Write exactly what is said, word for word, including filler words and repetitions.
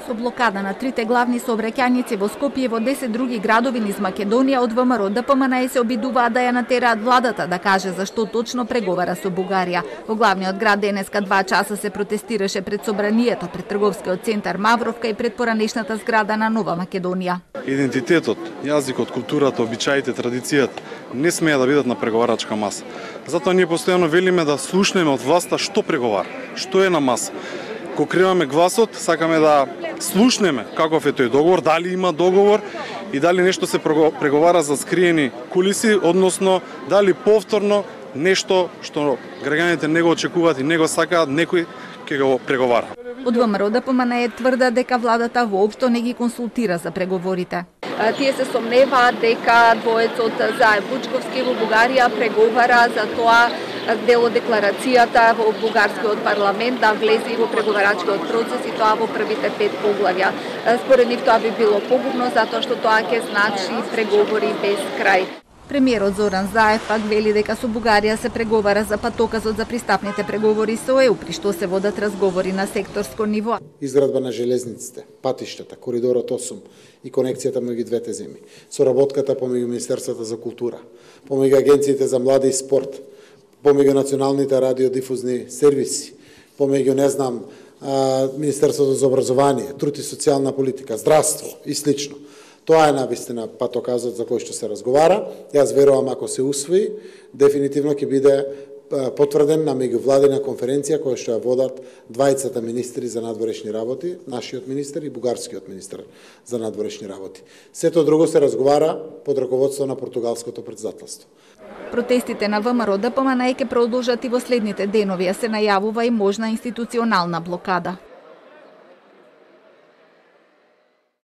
Со блокада на трите главни сообраќајници во Скопје и во десет други градови низ Македонија, од ВМРО Д П М Н се обидуваат да ја натераат владата да каже зашто точно преговара со Бугарија. Во главниот град денеска два часа се протестираше пред собранието, пред трговскиот центар Мавровка и пред поранешната зграда на Нова Македонија. Идентитетот, јазикот, културата, обичаите, традицијата не смеа да бидат на преговарачка маса. Затоа ние постојано велиме да слушнеме од власта што преговара, што е на маса. Кога криваме гласот, сакаме да слушнеме каков е тој договор, дали има договор и дали нешто се преговара за скриени кулиси, односно дали повторно нешто што граѓаните не го очекуваат и не го сакаат, некој ќе го преговара. Од ВМРО Д П М Н тврда дека владата воопшто не ги консултира за преговорите. Тие се сомневаат дека двоецот Заев Вучковски во Бугарија преговара за тоа дел од декларацијата во бугарскиот парламент да влезе и во преговарачкиот процес и тоа во првите пет поглавја. Според нив тоа би било погубно затоа што тоа ќе значи преговори без крај. Премиерот Зоран Заев пак вели дека со Бугарија се преговара за патоказот за пристапните преговори со Е У, при што се водат разговори на секторско ниво. Изградба на железниците, патиштата, коридорот осум и конекцијата меѓу двете земји, соработката помеѓу Министерството за култура, помеѓу агенциите за млади и спорт, помеѓу националните радиодифузни сервиси, помеѓу, не знам, Министерството за образование, труд и социјална политика, здравство и слично. Тоа е навистина патоказот за кој што се разговара. Јас верувам ако се усвои, дефинитивно ќе биде потврден на меѓувладина конференција која што ја водат двајцата министри за надворешни работи, нашиот министер и бугарскиот министер за надворешни работи. Сето друго се разговара под раководство на португалското претседателство. Протестите на ВМРО Д П М Н ќе продолжат и во следните денови, а се најавува и можна институционална блокада.